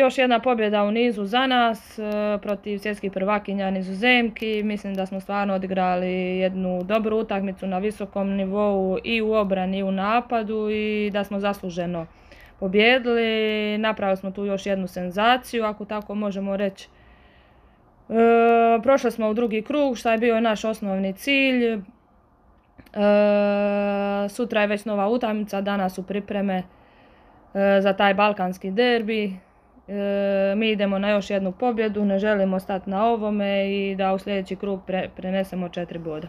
Još jedna pobjeda u nizu za nas protiv svjetskih prvakinja Nizozemki. Mislim da smo stvarno odigrali jednu dobru utakmicu na visokom nivou i u obrani i u napadu i da smo zasluženo pobjedili. Napravili smo tu još jednu senzaciju, ako tako možemo reći. Prošli smo u drugi krug, što je bio naš osnovni cilj. Sutra je već nova utakmica, danas su pripreme za taj balkanski derbi. Mi idemo na još jednu pobjedu, ne želimo stati na ovome i da u sljedeći krug prenesemo 4 boda.